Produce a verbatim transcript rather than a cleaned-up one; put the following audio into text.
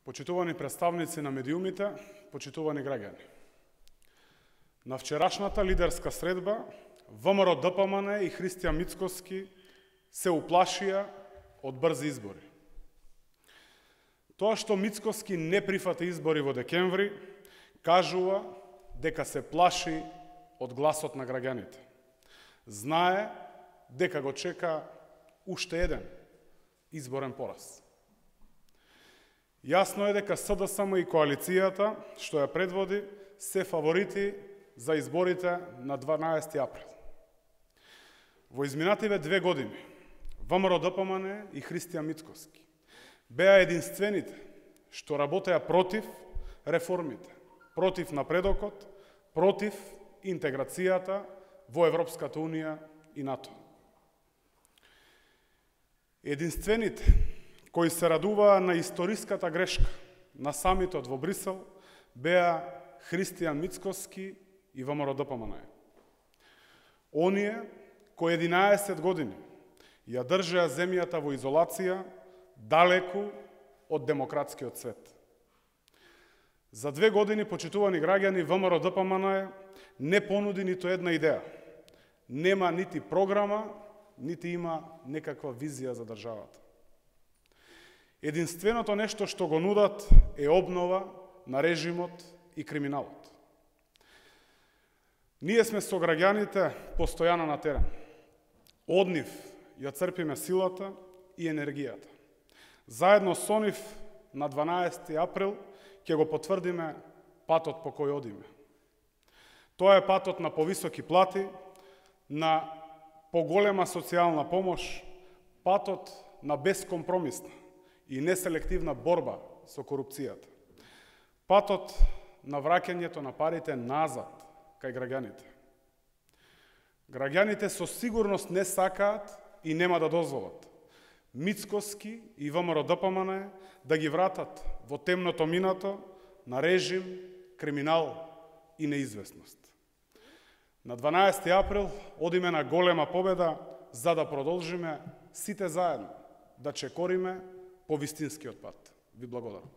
Почитувани представници на медиумите, почитувани граѓани. На вчерашната лидерска средба ВМРО Д П М Н и Христијан Мицкоски се уплашија од брзи избори. Тоа што Мицкоски не прифати избори во декември, кажува дека се плаши од гласот на граѓаните. Знае дека го чека уште еден изборен пораз. Јасно е дека С Д С М и коалицијата, што ја предводи, се фаворити за изборите на дванаесети април. Во изминативе две години, ВМРО Д П М Н и Христијан Мицкоски беа единствените што работеа против реформите, против напредокот, против интеграцијата во Европската Унија и НАТО. Единствените кои се радуваа на историската грешка на самитот во Брисел беа Христијан Мицкоски и ВМРО Д П М Н. Оние кои единаесет години ја држеа земјата во изолација, далеку од демократскиот свет. За две години, почитувани граѓани, ВМРО Д П М Н не понуди ниту една идеја. Нема нити програма, нити има некаква визија за државата. Единственото нешто што го нудат е обнова на режимот и криминалот. Ние сме со граѓаните постојано на терен. Од нив ја црпиме силата и енергијата. Заедно со нив на дванаесети април ќе го потврдиме патот по кој одиме. Тоа е патот на повисоки плати, на поголема социјална помош, патот на бескомпромисна и неселективна борба со корупцијата. Патот на враќањето на парите назад кај граѓаните. Граѓаните со сигурност не сакаат и нема да дозволат Мицкоски и ВМРО Д П М Н да ги вратат во темното минато на режим, криминал и неизвестност. На дванаесети април одиме на голема победа за да продолжиме сите заедно да чекориме по вистинскиот пат. Ви благодарам.